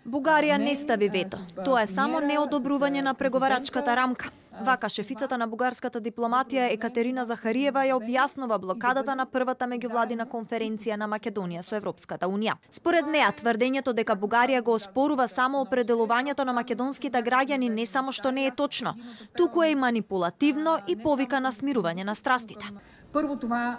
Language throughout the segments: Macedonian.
Бугарија не стави вето. Тоа е само неодобрување на преговарачката рамка. Вака шефицата на бугарската дипломатија Екатерина Захариева ја објаснува блокадата на првата меѓувладина конференција на Македонија со Европската унија. Според неа, тврдењето дека Бугарија го оспорува само определувањето на македонските граѓани не само што не е точно, туку е и манипулативно и повика на смирување на страстите. Прво, тоа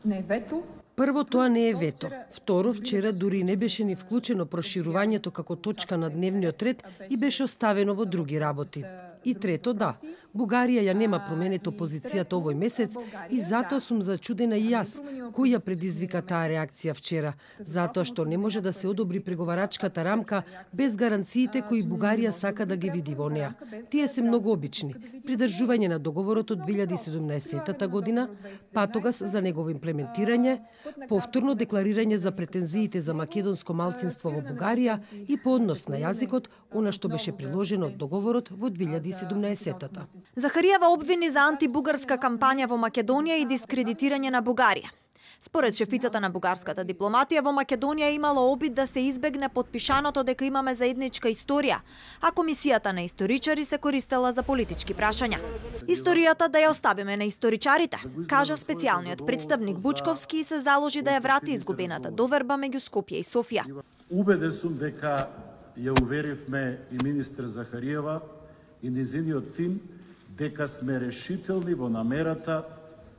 не е вето. Прво, тоа не е вето. Второ, вчера дури не беше ни вклучено проширувањето како точка на дневниот ред и беше оставено во други работи. И трето, да, Бугарија ја нема променето позицијата овој месец и затоа сум зачудена и јас, кој ја предизвика таа реакција вчера, затоа што не може да се одобри преговарачката рамка без гаранциите кои Бугарија сака да ги види во неа. Тие се многу обични. Придржување на договорот од 2017 година, патогас за негово имплементирање, повторно декларирање за претензиите за македонско малцинство во Бугарија и по однос на јазикот, она што беше приложено од договорот во 2017-та. Захариева обвини за антибугарска кампања во Македонија и дискредитирање на Бугарија. Според шефицата на бугарската дипломатија, во Македонија имало обид да се избегне потпишаното дека имаме заедничка историја, а комисијата на историчари се користела за политички прашања. Историјата да ја оставиме на историчарите, кажа специјалниот представник Бучковски и се заложи да ја врати изгубената доверба меѓу Скопје и Софија. Убеден сум дека ја уверивме и министер Захариева и низиниот тим дека сме решителни во намерата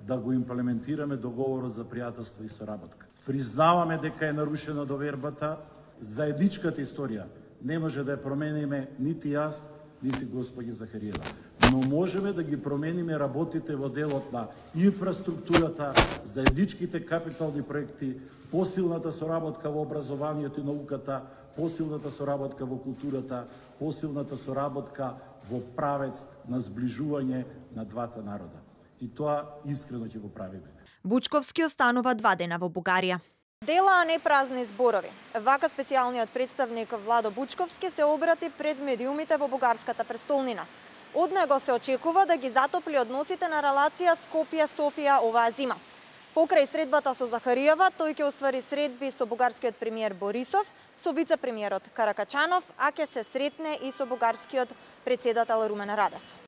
да го имплементираме договорот за пријателство и соработка. Признаваме дека е нарушена довербата, заедничката историја не може да ја промениме нити јас, нити господи Захариева. Но можеме да ги промениме работите во делот на инфраструктурата, заедничките капитални проекти, посилната соработка во образованието и науката, посилната соработка во културата, посилната соработка во правец на зближување на двата народа. И тоа искрено ќе го правиме. Бучковски останува 2 дена во Бугарија. Дела, а не празни зборови. Вака специјалниот представник Владо Бучковски се обрати пред медиумите во бугарската престолнина. Од него се очекува да ги затопли односите на релација Скопје-Софија оваа зима. Покрај средбата со Захариева, тој ќе оствари средби со бугарскиот премиер Борисов, со вице-премиерот Каракачанов, а ќе се сретне и со бугарскиот председател Румен Радев.